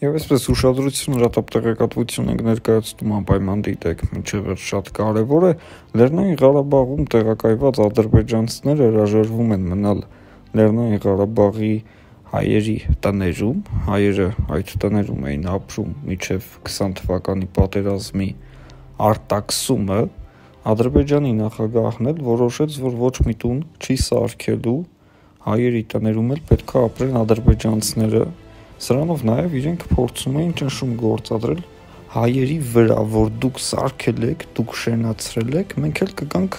Եվ այսպես ուշադրություն հրատապ տեղեկատվություն ենք ներկայացնում անպայման դիտեք, մինչև շատ կարևոր է, Լեռնային Ղարաբաղում տեղակայված ադրբեջանցիները հրաժարվում են մնալ Լեռնային Ղարաբաղի հայերի տներում, հայերը այդ տներում էին ապրում մինչև 20 թվականի պատերազմի արտաքսումը, Ադրբեջանի նախագահն էլ որոշեց, որ ոչ մի տուն չի սարքելու, հայերի տներում էլ պետք է ապրեն ադրբեջանցիները, սրանով նաև իրենք փորձում էին ճնշում գործադրել հայերի վրա, որ դուք սարքել եք, դուք շենացրել եք, մենք էլ կգանք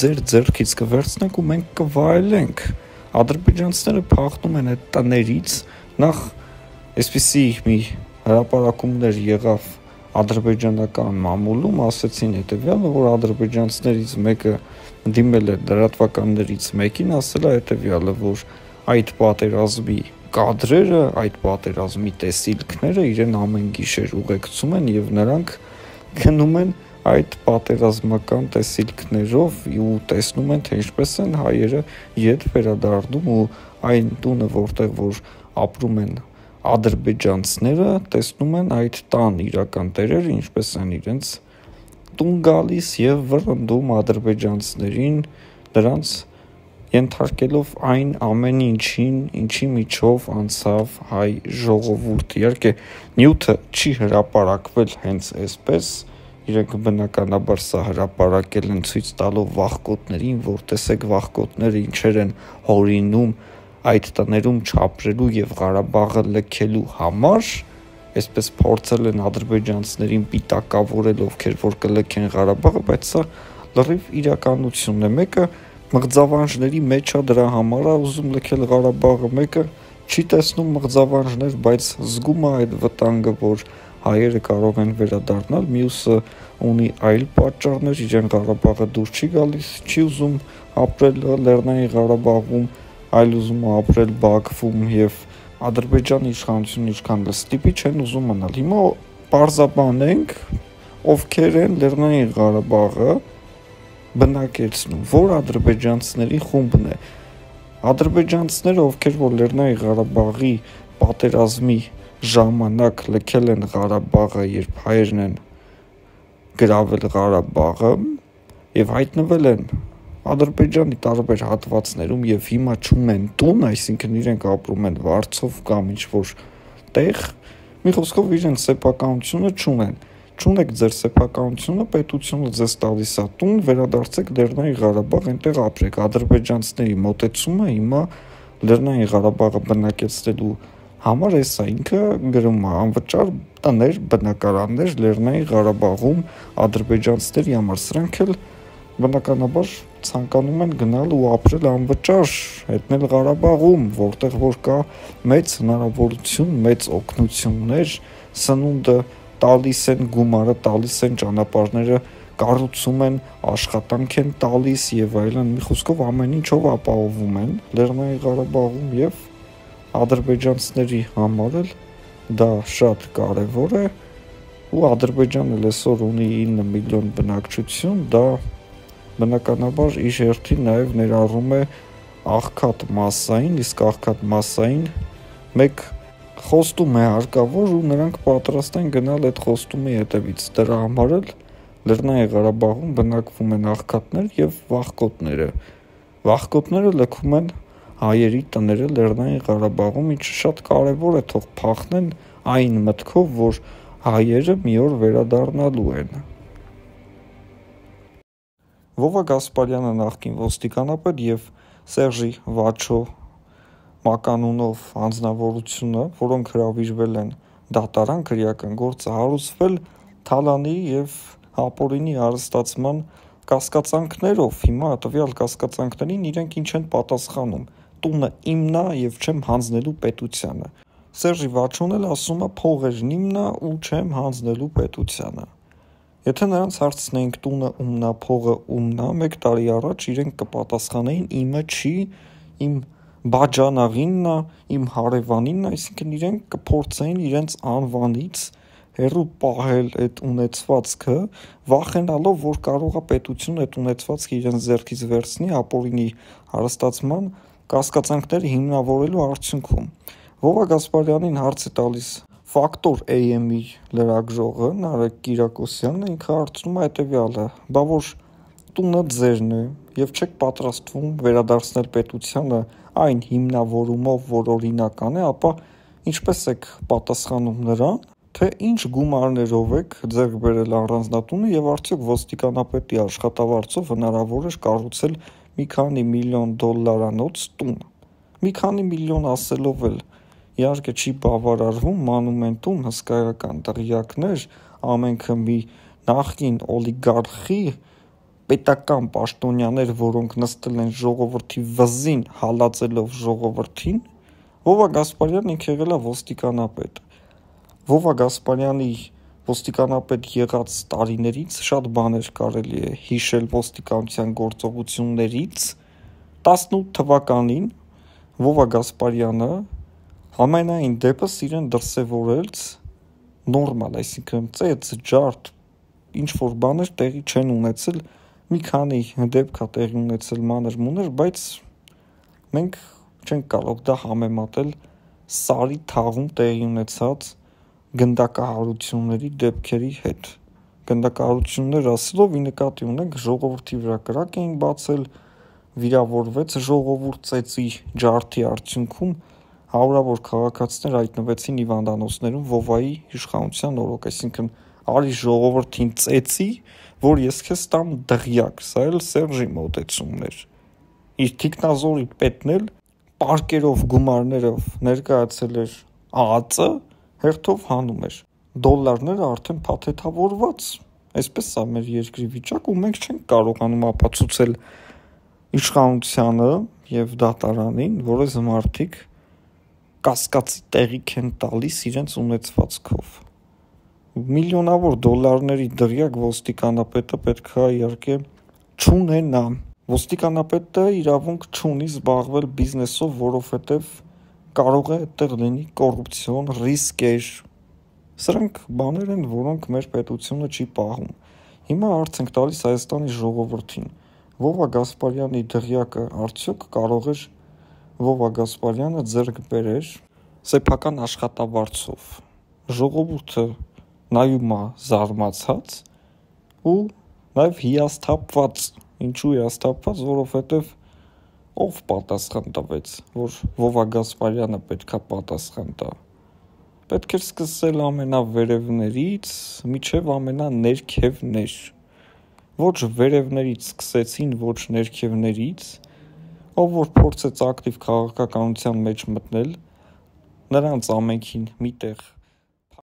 ձեր ձեռքից կվերցնենք ու մենք կվայելենք։ Ադրբեջանցիները փախնում են այդ տներից, նախ այսպիսի մի հրապարակումներ եղավ ադրբեջանական մամուլում, ասեցին հետևյալը, որ ադրբեջանցիներից մեկը դիմել է լրատվականներից մեկին, ասել է հետևյալը, որ այդ պատերազմի կադրերը, այդ պատերազմի տեսիլքները իրեն ամեն գիշեր ուղեկցում են եւ նրանք գնում են այդ պատերազմական տեսիլքներով ու տեսնում են, թե ինչպես են հայերը ետ վերադառնում ու այն տունը, որտեղ որ ապրում են ադրբեջանցիները, տեսնում են այդ տան իրական տերերը, ինչպես են իրենց տուն գալիս եւ վռնդում ադրբեջանցիներին, դրանց ենթարկելով այն ամեն ինչին, ինչի միջով անցավ հայ ժողովուրդը։ Իհարկե, նյութը չի հրապարակվել հենց այսպես, իրենք բնականաբար սա հրապարակել են ցույց տալով վախկոտներին, որ տեսեք վախկոտները ինչեր են հորինում այդ տներում չապրելու եւ Ղարաբաղը լքելու համար, այսպես փորձել են ադրբեջանցիներին պիտակավորել, ովքեր որ կլքեն Ղարաբաղը, բայց սա լրիվ իրականությունն է։ Մեկը մղձավանջների մեջ է, դրա համար է ուզում լքել Ղարաբաղը, մեկը չի տեսնում մղձավանջներ, բայց զգում է այդ վտանգը, որ հայերը կարող են վերադառնալ, մյուսը ունի այլ պատճառներ, իրեն Ղարաբաղը դուր չի գալիս, չի ուզում ապրել Լեռնային Ղարաբաղում, այլ ուզում է ապրել Բաքվում եւ Ադրբեջանի իշխանությունը ինչքան ստիպի չեն ուզում մնալ։ Հիմա պարզաբանենք, ովքեր են Լեռնային Ղարաբաղը բնակեցնում, որ ադրբեջանցիների խումբն է։ Ադրբեջանցիները, ովքեր որ Լեռնային Ղարաբաղի պատերազմի ժամանակ լքել են Ղարաբաղը, երբ հայերն են գրավել Ղարաբաղը եւ հայտնվել են Ադրբեջանի տարբեր հատվածներում եւ հիմա չունեն տուն, այսինքն իրենք ապրում են վարձով կամ ինչ-որ տեղ, մի խոսքով իրենց սեփականությունը չունեն։ Չունեք ձեր սեփականությունը, պետությունը ձեզ տալիս է տուն, վերադարձեք Լեռնային Ղարաբաղ, այնտեղ ապրեք։ Ադրբեջանցիների մոտեցումը հիմա Լեռնային Ղարաբաղը բնակեցնելու համար էսա ինքը գրում է անվճար տներ, բնակարաններ Լեռնային Ղարաբաղում ադրբեջանցիների համար, սրանք էլ բնականաբար ցանկանում են գնալ ու ապրել անվճար, հետնել Ղարաբաղում, որտեղ որ կա մեծ հնարավորություն, մեծ օգնություններ, սնունդը տալիս են, գումարը տալիս են, ճանապարհները կառուցում են, աշխատանք են տալիս եւ այլն, մի խոսքով ամեն ինչով ապահովում են Լեռնային Ղարաբաղում եւ ադրբեջանցիների համար էլ դա շատ կարեւոր է ու Ադրբեջանը այսօր ունի 9 միլիոն բնակչություն, դա բնականաբար իր հերթին նաև ներառում է աղքատ մասային, իսկ աղքատ մասային մեկ խոստում է հարկավոր ու նրանք պատրաստ են գնալ այդ խոստումի հետևից։ Դրա համար էլ Լեռնային Ղարաբաղում բնակվում են աղքատներ եւ վախկոտները։ Վախկոտները լքում են հայերի տները Լեռնային Ղարաբաղում, ինչը շատ կարևոր է, թող փախնեն այն մտքով, որ հայերը մի օր վերադառնալու են։ Վովա Գասպարյանը նախկին ոստիկանապետ եւ Սերժի Վաչո մականունով անձնավորությունը, որոնք հրավիրվել են դատարան, քրեական գործը հարուցվել Թալանի եւ Հապորինի հարստացման կասկածանքներով։ Հիմա տվյալ կասկածանքներին իրենք ինչ են պատասխանում։ Տունը իմն է եւ չեմ հանձնելու պետությանը։ Սերժի Վաչոն էլ ասում է փողերն իմն է ու չեմ հանձնելու պետությանը։ Եթե նրանց հարցնեինք տունը ումն է, փողը ումն է, 1 տարի առաջ իրենք կպատասխանեին իմը չի, իմ բաջանաղինն է, իմ հարևանինն է, այսինքն իրենք կփորձեին իրենց անվանից հերու պահել այդ ունեցվածքը, վախենալով, որ կարող է պետությունը այդ ունեցվածքը իրենց ձեռքից վերցնի ապօրինի հարստացման կասկածանքները հիմնավորելու արդյունքում։ Վովա Գասպարյանին հարց է տալիս Ֆակտոր AM-ի լրագրողը Նարեկ Կիրակոսյանն ինքը հարցնում է հետևյալը. «Բա որ տունը ձերն է եւ չեք պատրաստվում վերադարձնել պետությանը այն հիմնավորումով, որ օրինական է, ապա ինչպես եք պատասխանում նրան, թե ինչ գումարներով եք ձեռք բերել առանձնատունը եւ արդյոք ոստիկանապետի աշխատավարձով հնարավոր էր կառուցել մի քանի միլիոն դոլարանոց տուն»։ Մի քանի միլիոն ասելով էլ իհարկե չի բավարարվում մանումենտում հսկայական դղյակներ, ամենքը մի նախկին օլիգարխի պետական պաշտոնյաներ, որոնք նստել են ժողովրդի վզին հալածելով ժողովրդին։ Վովա Գասպարյանն ինքը եղել է ոստիկանապետ։ Վովա Գասպարյանի ոստիկանապետ եղած տարիներից շատ բաներ կարելի է հիշել ոստիկանության գործողություններից։ 18 թվականին Վովա Գասպարյանը համենայն դեպս իրեն դրսևորեց նորմալ, այսինքն ծեծ, ջարդ, ինչ-որ բաներ տեղի չեն ունեցել, մի քանի դեպք է տեղի ունեցել մանր-մունր, բայց մենք չենք կարող դա համեմատել Սարի թաղում տեղի ունեցած գնդակահարությունների դեպքերի հետ։ Գնդակահարություններ ասելով ի նկատի ունենք ժողովրդի վրա կրակ էին բացել, վիրավորվեց ժողովուրդ ծեծի ջարդի արդյունքում հարյուրավոր քաղաքացիներ հայտնվեցին հիվանդանոցներում Վովայի իշխանության օրոք, այսինքն արի ժողովրդին ծեծի, որ ես քեզ տամ դղյակ, սա էլ Սերժի մոտեցումն էր։ Իր թիկնազորի պետն էլ պարկերով գումարներով ներկայացել էր ԱԱԾ, հերթով հանում էր։ Դոլարները արդեն փաթեթավորված, այսպես է մեր երկրի վիճակը ու մենք չենք կարողանում ապացուցել իշխանությանը եւ դատարանին, որ այս մարդիկ կասկածի տեղիք են տալիս իրենց ունեցվածքով։ Միլիոնավոր դոլարների դղյակ ոստիկանապետը պետք է իհարկե չունենա։ Ոստիկանապետը իրավունք չունի զբաղվել բիզնեսով, որովհետև կարող է այդտեղ լինի կոռուպցիոն ռիսկեր։ Սրանք բաներ են, որոնք մեր պետությունը չի պահում։ Հիմա հարց ենք տալիս Հայաստանի ժողովրդին։ Վովա Գասպարյանի դղյակը արդյոք կարող էր Վովա Գասպարյանը ձեռք բերեր սեփական աշխատավարձով։ Ժողովուրդը նայում է զարմացած ու նաև հիասթափված։ Ինչու հիասթափված, որովհետև ով պատասխան տվեց, որ Վովա Գասպարյանը պետքա պատասխան տա։ Պետք էր սկսել ամենավերևներից մինչև ամենաներքևներ։ Ոչ վերևներից սկսեցին, ոչ ներքևներից, ով որ փորձեց ակտիվ քաղաքականության մեջ մտնել, նրանց ամենքին միտեղ